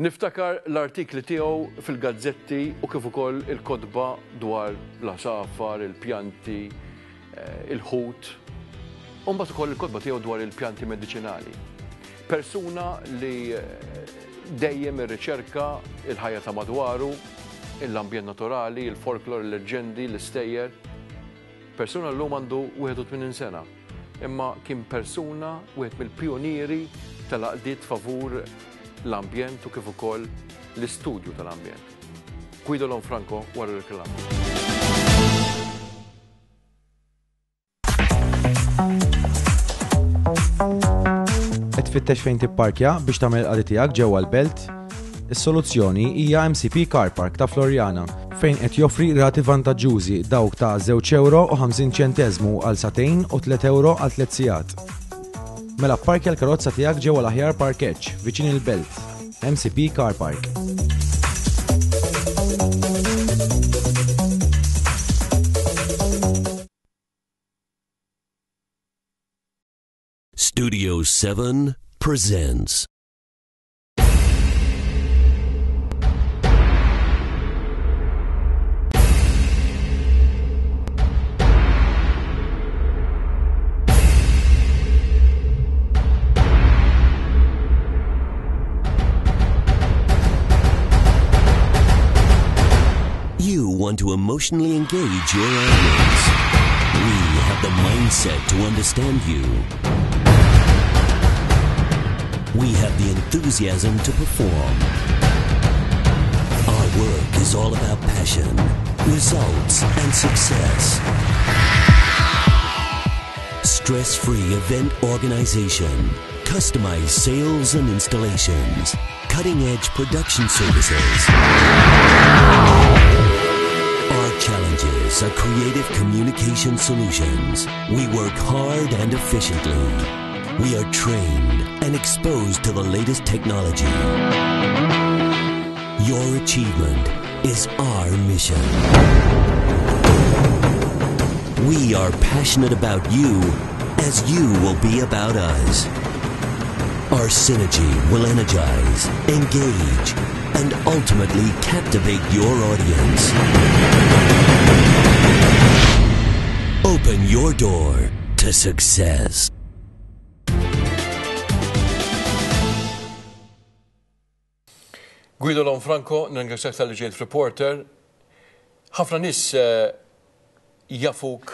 Niftakar l-artikli tiegħu fil-gazzetti u kif ukoll il-kotba dwar l-għasafar, il-pjanti, eh, il-ħut, u mbagħad ukoll il-kotba tiegħu dwar il-pjanti mediċinali. Persuna li eh, dejjem irriċerka il-ħajja ta' madwaru, l-ambjent naturali, il-folklor, il-leġġendi, l-istejjer. Persuna llum għandu 81 sena, imma kien persuna wieħed mill-pijunieri tal-għaqdiet favur l-ambjent u kif ukoll l-istudju tal-ambjent. Guido Lanfranco wara r-reklam. Qed tfittex fejn tipparkja biex tagħmel il-qadi tiegħek ġewwa l-belt? Is-soluzzjoni hija MCP Car Park ta' Floriana, fejn qed joffri rati vantaġġużi dawk ta' żewġ ewro u 50 ċenteżmu għal sagħtejn u tliet ewro għal tliet sigħat. Mela pparkja l-karozza tiegħek ġewwa l-aħjar parkeġġ viċin il-belt, MCP Car Park. Studio 7 presents. You want to emotionally engage your audience. We have the mindset to understand you. We have the enthusiasm to perform. Our work is all about passion, results, and success. Stress-free event organization, customized sales and installations, cutting-edge production services. Our challenges are creative communication solutions. We work hard and efficiently. We are trained and exposed to the latest technology. Your achievement is our mission. We are passionate about you as you will be about us. Our synergy will energize, engage, and ultimately captivate your audience. Open your door to success. Guido Lanfranco, nirringrazzjak talli ġejt f'Reporter. Ħafna nies eh, jafuk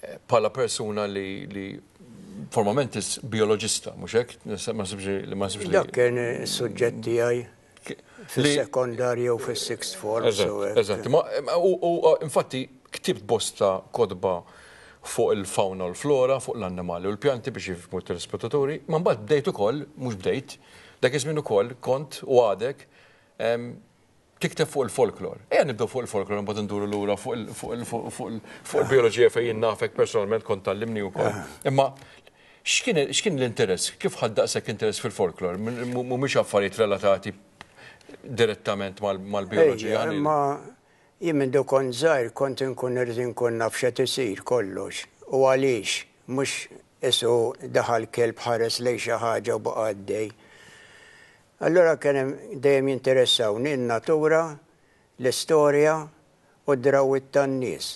eh, bħala persuna li, li formalment is bioloġista, mhux hekk? Ma sibx li ma sibx li. Dak kien is-suġġett tiegħi fis-sekondarja u fis-sixth form. Eżatt, u infatti ktibt bosta kotba fuq il-fawna u l-flora, fuq l-annimali u l-pjanti biex jifhmu t-telespettaturi, ma mbagħad bdejt ukoll, mhux bdejt, dak iż-żmien ukoll kont u għadek tikteb fuq il-folklor. Ejja nibdew fuq il-folklor imbagħad induru lura fuq il-bioloġija fejn jien nafek personalment kont tgħallimni wkoll. Imma x'kien l-interess? Kif ħadt daqshekk interess fil-folklor? Mhumiex affarijiet relatati direttament mal-bioloġija. Imma jien minn kont żgħir kont inkun irid inkun naf x'qed isir kollox u għaliex mhux isu daħal kelb ħares lejn xi ħaġa u baqa' għaddej. Allura kien hemm dejjem jinteressawni n-natura, l-istorja u d-drawwiet tan-nies.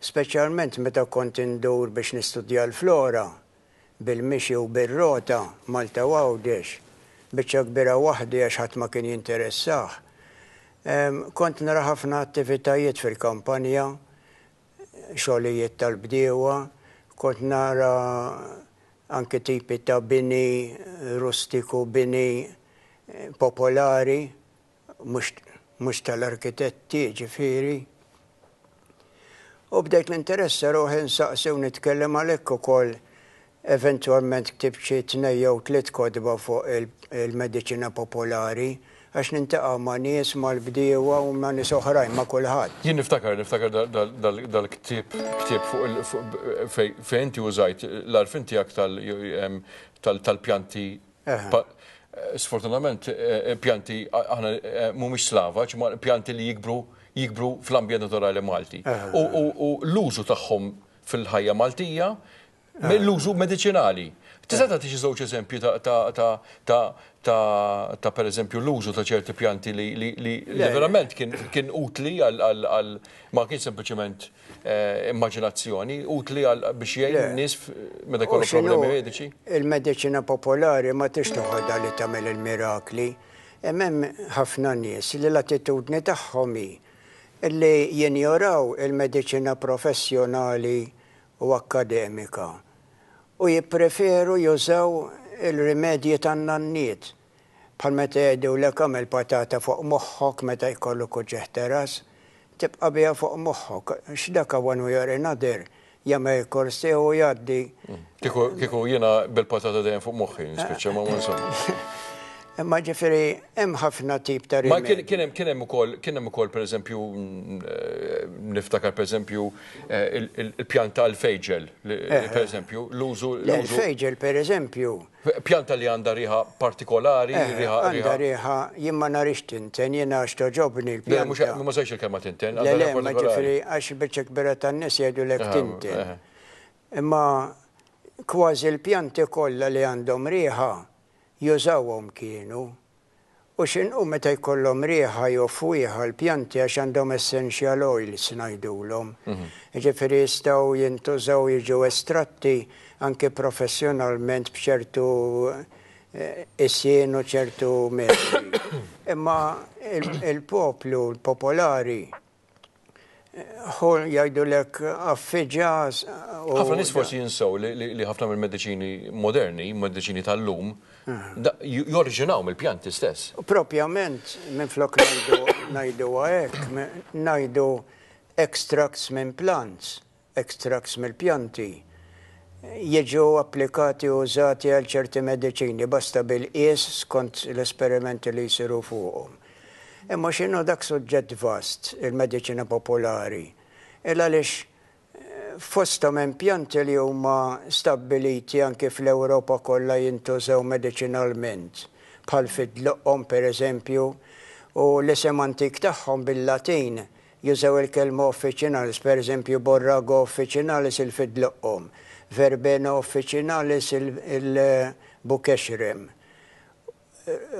Speċjalment meta kont indur biex nistudja l-flora, bil-mixi u bir-rota, Malta u Għawdex, biċċa kbira waħdi għax ħadd ma kien jinteressah. Kont nara ħafna attivitajiet fil-kampanja, xogħlijiet tal-bdiewa, kont nara anki tipi ta' bini rustiku, bini popolari, mhux tal-arkitetti ġifieri. U bdejt ninteressa ruħi nsaqsi u nitkellem għalhekk ukoll eventwalment ktibt xi tnejn jew tliet kotba fuq il-mediċina popolari għax nintaqa' ma' nies, mal-bdiewa u ma' nies oħrajn, ma' kulħadd. Jien niftakar, niftakar dal-ktieb, ktieb fuq fejn inti użajt l-għarfien tiegħek tal-pjanti Sfortunatament pjanti aħna mhumiex slavaġ, ma pjanti li jikbru jikbru fl-ambjent naturali Malti. U l-użu tagħhom fil-ħajja Maltija, l-użu mediċinali. Tista' tagħti xi żewġ eżempji ta' ta' ta' ta' ta' ta' pereżempju l-użu ta' ċerti pjanti li li li li verament kien kien utli għal għal għal ma kienx sempliċement immaġinazzjoni, utli għal biex jgħin nies meta jkollhom problemi mediċi? Il-mediċina popolari ma tix toħodha li tagħmel il-mirakli. Hemm hemm ħafna nies li l-attitudni tagħhom hi li jinjoraw il-mediċina professjonali u akkademika u jippreferu jużaw il-rimedji tan-nanniet, bħal meta jgħidulek agħmel patata fuq moħħok meta jkollok uġigħ ta' ras, tibqa' biha fuq moħħok, għax dak one way or another jagħmel il-kors tiegħu u jgħaddi. Kieku kieku jiena bil-patata dejjem fuq moħħi nispiċċa ma insomma. Imma ġifieri hemm ħafna tip ta' rimedji. Ma kien hemm kien hemm ukoll kien hemm ukoll pereżempju niftakar pereżempju il-pjanta għall-fejġel, pereżempju, l-użu. Le, il-fejġel pereżempju. Pjanta li għandha riħa partikolari, riħa. Għandha riħa, jien ma narix tinten, jiena għax togħġobni l-pjanta. Le, ma sejx il-kelma tinten. Le, le, ma ġifieri għax biċċa kbira tan-nies jgħidulek tinten. Imma kważi l-pjanti kollha li għandhom riħa jużawhom kienu. U x'inhu meta jkollhom riħa jew fwieħa l-pjanti għax għandhom essential oils ngħidulhom. Jiġifieri jistgħu jintużaw jiġu estratti anki professjonalment b'ċertu qisien u ċertu metodi. Imma il-poplu, l-popolari, Hu jgħidulek affiġa u. Ħafna nies forsi jinsew li ħafna mill-mediċini moderni, mediċini tal-lum, joriġinaw mill-pjanti stess. Propjament, minflok ngħidu ngħiduha hekk, ngħidu extracts minn plants. Extracts mill-pjanti jiġu applikati u użati għal ċerti mediċini, basta bil-qies skont l-esperimenti li jsiru fuqhom. Imma x'inhu dak suġġett vast, il-mediċina popolari? Il għaliex fosthom hemm pjanti li huma stabbiliti anki fl-Ewropa kollha jintużaw mediċinalment, bħal fid-dloqqhom pereżempju, u l-isem antik tagħhom bil-Latin Jużaw il-kelma officinalis, pereżempju Borrago officinalis il-fidloqqom, Verbena officinalis il-bukexrem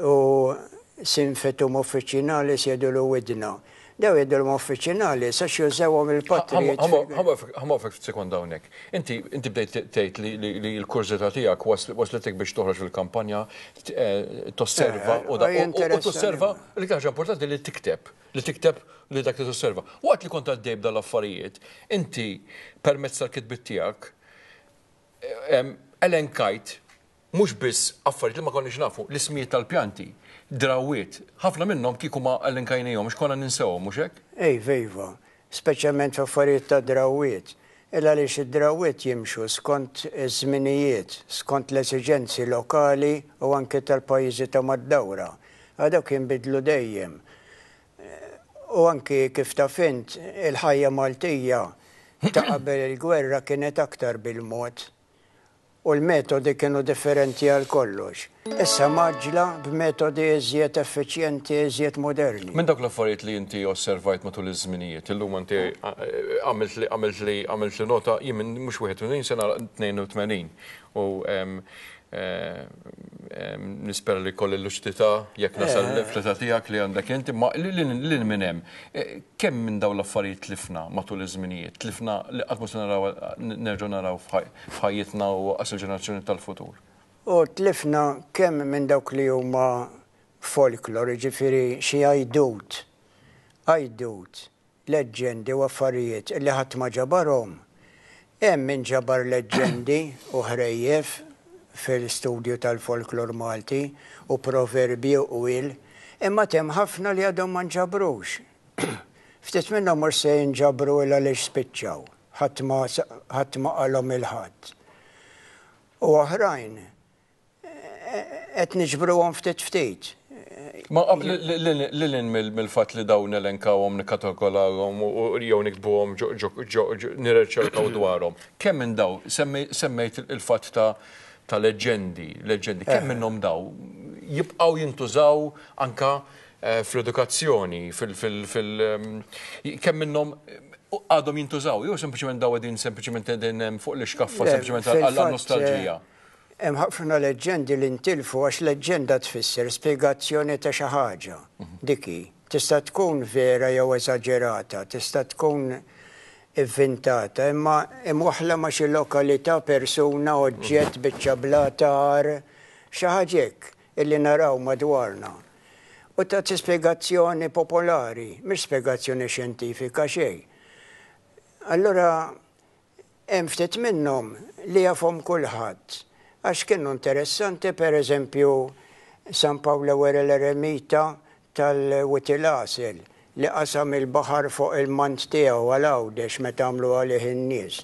u Symphytum officinalis jgħidulu widna. Dawn jgħidulhom officinalis għax jużawhom il-patrijiet. Ħa nwaqqfek ftit sekonda hawnhekk. Inti inti bdejt tgħid li l-kurżità tiegħek waslitek biex toħroġ fil-kampanja tosserva u tosserva l-iktar ħaġa importanti li tikteb. Li tikteb li dak li tosserva. Waqt li kont għaddej b'dan l-affarijiet, inti permezz tal-kitbiet tiegħek elenkajt mhux biss affarijiet li ma konniex nafu, l-ismijiet tal-pjanti, drawwiet, ħafna minnhom kieku ma elenkajnihomx konna ninsewhom, mhux hekk? Iva, iva. Speċjalment f'affarijiet ta' drawwiet. Il għaliex id-drawwiet jimxu skont iż-żminijiet, skont l-esiġenzi lokali u anki tal-pajjiżi ta' mad-dawra. Għax dawk jinbidlu dejjem. U anki kif taf int, il-ħajja Maltija ta' qabel il-gwerra kienet aktar bil-mod. U l-metodi kienu differenti għal kollox. Issa mgħaġġla b'metodi iżjed effiċjenti, iżjed moderni. Minn dawk l-affarijiet li inti osservajt matul iż-żminijiet, illum inti għamiltli għamiltli għamiltli nota, jien minn mhux 81 se nagħlaq 82 u Nispera li jkolli l-luċidità jekk nasal fl-età tiegħek li għandek int, imma lil minn hemm, kemm minn dawn l-affarijiet tlifna matul iż-żminijiet, tlifna li qatt mhu se naraw nerġgħu naraw f'ħajjitna u lanqas il-ġenerazzjoni tal-futur? U tlifna kemm minn dawk li huma folklor, jiġifieri xi għajdut, għajdut leġġendi u affarijiet li ħadd ma ġabarhom. Hemm min ġabar leġġendi u ħrejjef fil-studju tal-folklor Malti u proverbji u qwiel, imma hemm ħafna li għadhom ma nġabrux. Ftit minnhom mhux se jinġabru il għaliex spiċċaw, ħadd ma ħadd ma qalhom 'il ħadd. U oħrajn qed niġbruhom ftit ftit. Ma lil hinn mill-fatt li dawn nelenkawhom, nikkatalogalhom jew niktbuhom nirriċerkaw dwarhom. Kemm minn daw, semmejt il-fatt ta' leġġendi, leġġendi, kemm minnhom daw jibqgħu jintużaw anka fl-edukazzjoni, fil kemm minnhom għadhom jintużaw, jew sempliċement daw qegħdin sempliċement qegħdin hemm fuq l-ixkaffa sempliċement għal nostalġija. Hemm ħafna leġġendi li ntilfu għax leġġenda tfisser spjegazzjoni ta' xi ħaġa. Dik hi. Tista' tkun vera jew eżaġerata, tista' tkun ivvintata, imma imwaħħla ma' xi lokalità, persuna, oġġett, biċċa blata, għar, xi ħaġa hekk illi naraw madwarna. U tagħti spjegazzjoni popolari, mhix spjegazzjoni xjentifika xejn. Allura Hemm ftit minnhom li jafhom kulħadd għax kienu interessanti, per eżempju San Pawl l-Ewwel l-Eremita tal-Wied il-Għasel li qasam il-baħar fuq il-mant tiegħu għal Għawdex meta għamlu għalih in-nies.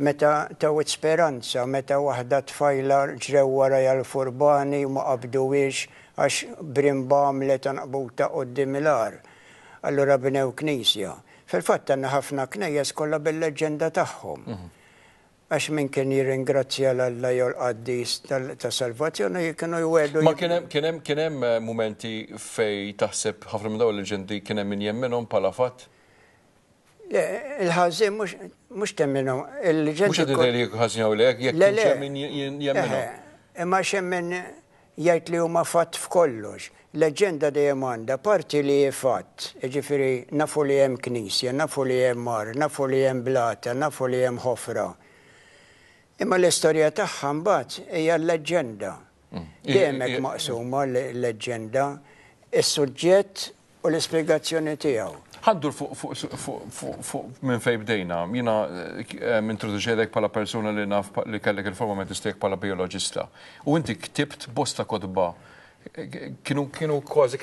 Meta ta' Wied Speranza meta waħda tfajla ġrew warajha l-furbani u ma qabduhiex għax brimba għamlet għanqbuta quddiem il-għar. Allura bnew knisja. Fil-fatt għandna ħafna knejjes kollha bil-leġġenda tagħhom. Għax min kien jirringrazzja 'l Alla jew l-qaddis tas-salvazzjoni kienu jwiegħdu. Ma kien hemm kien hemm kien hemm mumenti fejn taħseb ħafna minn dawn il-leġġendi kien hemm min jemminhom bħala fatt? Le, il-ħażin mhux mhux temminhom. Il-leġġendi. Mhux qed ngħid li jekk ħażin jew le, jekk kienx hemm min jemminhom. Imma x'hemm min Jgħid li huma fatt f'kollox. Leġġenda dejjem għandha parti li hi fatt, jiġifieri nafu li hemm knisja, nafu li hemm għar, nafu li hemm blata, nafu li hemm ħofra. Imma l-istorja tagħha mbagħad hija l-leġġenda. Dejjem hekk maqsuma l-leġġenda, is-suġġett u l-ispjegazzjoni tiegħu. Ħa ndur fuq minn fejn bdejna. Jiena introduċejtek bħala persuna li naf li kellek il-forma mentis tiegħek bħala bijoloġista. U inti ktibt bosta kotba. Kienu kienu kważi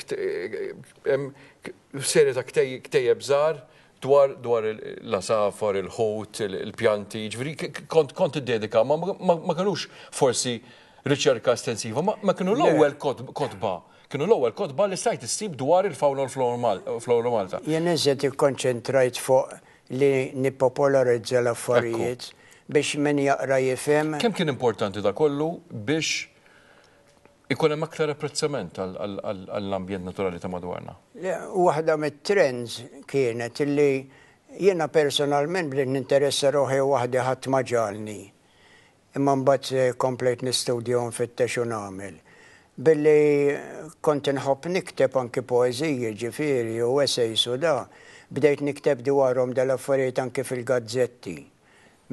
serje ta' ktejjeb żgħar dwar dwar l-għasafar, il-ħut, il-pjanti, jiġifieri kont kont iddedika, ma ma kinux forsi riċerka estensiva, ma kienu l-ewwel kotba Kienu l-ewwel kotba li stajt issib dwar il-fawna u l-flora Malta. Jien iżjed ikkonċentrajt fuq li nippopolarizza l-affarijiet biex min jaqra jifhem. Kemm kien importanti da kollu biex ikun hemm aktar apprezzament għall-ambjent naturali ta' madwarna? Waħda mit-trends kienet li jiena personalment bdejt ninteressa ruħi waħdi ħadd ma ġagħalni. Imma mbagħad komplejt nistudja u nfittex u nagħmel. Billi kont inħobb nikteb anki poeżiji ġifieri u essays u da, bdejt nikteb dwarhom dal-affarijiet anki fil-gazzetti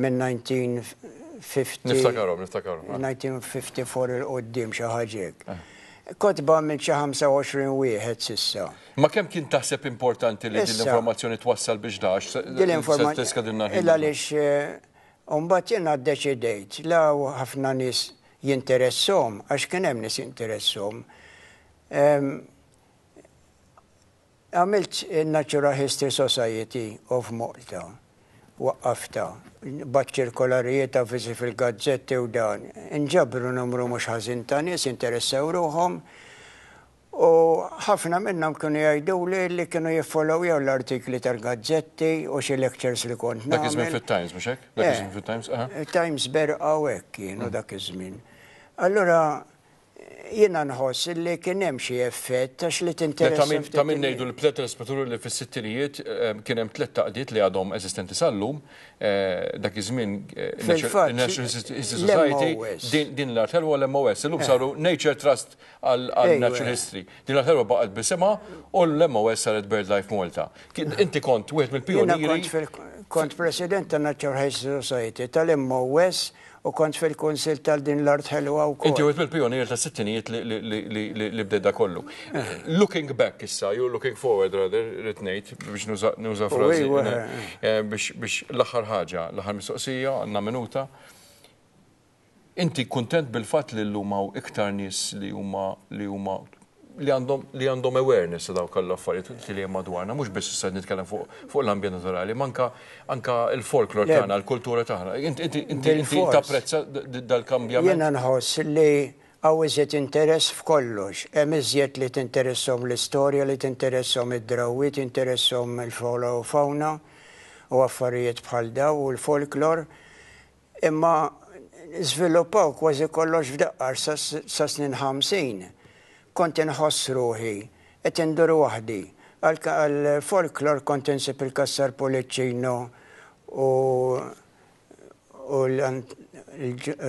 minn 1950. Niftakarhom, niftakarhom. 1954 'il quddiem xi ħaġa hekk. Kotba għamilt xi 25 wieħed s'issa. Ma kemm kien taħseb importanti li din l-informazzjoni twassal biex da għax se tiskadilna l-ħin. Il għaliex U mbagħad jiena ddeċidejt, la hawn ħafna nies jinteresshom, għax kien hemm nies jinteresshom, għamilt in-Natural History Society of Malta, waqqaftha, bgħatt ċirkolarijiet, avviżi fil-gazzetti u dan. Inġabru numru mhux ħażin ta' nies jinteressaw ruħhom U ħafna minnhom kienu jgħiduli li kienu jiffollowjaw l-artikli tal-gazzetti u xi lectures li kont nagħmel. Dak iż-żmien fit-Times, mhux hekk? Dak iż-żmien fit-Times, aha. Times berqa u hekk kienu dak iż-żmien. Allura jiena nħoss li kien hemm xi effett għax li tinteressa. Ta' min ngħidu l-telespettaturi li fis-sittinijiet kien hemm tlett għaqdiet li għadhom eżistenti sal-lum, dak iż-żmien National History Society, din l-art ħelwa l-MOS, illum saru Nature Trust għal Natural History. Din l-art baqgħet b'isimha u l-MOS saret BirdLife Malta. Inti kont wieħed mill-pijunieri. Kont president ta' Natural History Society tal-MOS u kont fil-kunsill tal din l-art ħelwa wkoll. Inti wieħed mill-pijunieri tas-sittinijiet li bdejt da kollu. Looking back issa, you looking forward rather, rrid ngħid biex nuża frażi. Biex l-aħħar ħaġa, l-aħħar mistoqsija, għandna minuta. Inti kuntent bil-fatt li llum hawn iktar nies li huma li huma li għandhom li għandhom awareness ta' dawk l-affarijiet li hemm madwarna, mhux biss issa nitkellem fuq fuq l-ambjent naturali, ma anka anka l-folklor tagħna, l-kultura tagħna. Inti inti inti tapprezza dal-kambjament? Jiena nħoss li hawn iżjed interess f'kollox. Hemm iżjed li tinteresshom l-istorja, li tinteresshom id-drawwiet, jinteresshom il-flora u fauna u affarijiet bħal dawn u l-folklor. Imma żviluppaw kważi kollox f'daqqa għax sas-snin 50 kont inħoss ruħi qed indur waħdi. Għall-folklor kont insib il-Cassar Pullicino u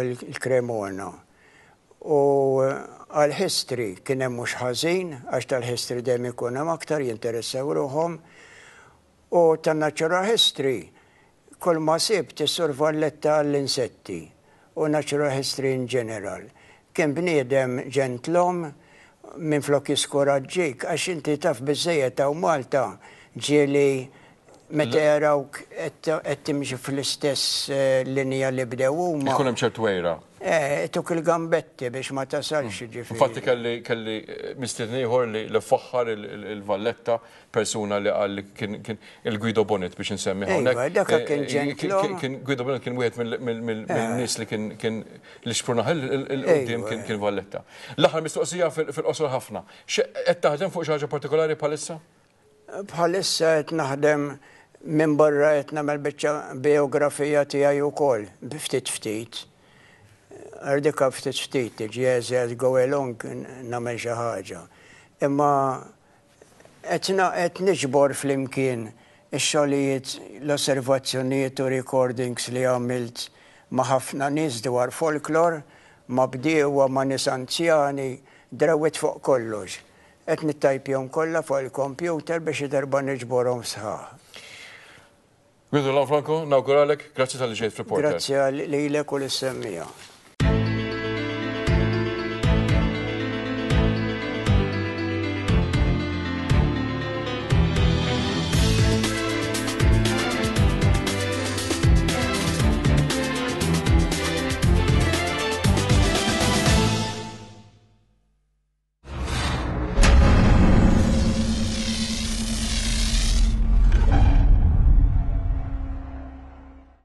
l-Cremona. U għall-history kien hemm mhux ħażin, għax tal-history dejjem ikun hemm aktar jinteressaw ruħhom. U tan-natural history kull ma sibt is-Sur Valletta għall-insetti u natural history in general. Kien bniedem ġentlom minflok jiskoraġġik għax inti taf biżżejjed hawn Malta ġieli meta jarawk qed timxi fl-istess linja li bdew huma. Ikun hemm ċertu għira. Eh, ituk il-gambetti biex ma tasalx jiġifieri. Infatti kelli kelli mistieden ieħor li faħħar il-Valletta, persuna li qal li kien il-Guido Bonett biex insemmi hawnhekk. Iva, dak kien ġentlom. Kien Guido Bonett kien wieħed mill-nies li kien kien li xprunaħ il-qudiem kien Valletta. L-aħħar mistoqsija fil-qosor ħafna. Qed taħdem fuq xi ħaġa partikolari bħalissa? Bħalissa qed naħdem minbarra qed nagħmel biċċa bijografija tiegħi wkoll, bi ftit ftit. Għal dik ftit ftit tiġi as I go along nagħmel xi ħaġa. Imma qed qed niġbor flimkien ix-xogħlijiet, l-osservazzjonijiet u recordings li għamilt ma' ħafna nies dwar folklor, ma' bdiewa, ma' nies anzjani, drawwiet fuq kollox. Qed nittajpjahom kollha fuq il-kompjuter biex xi darba niġborhom sħaħ. Guido Lanfranco, nawguralek, grazzi talli ġejt f'Reporter. Grazzi lilek u lis-semmiegħa.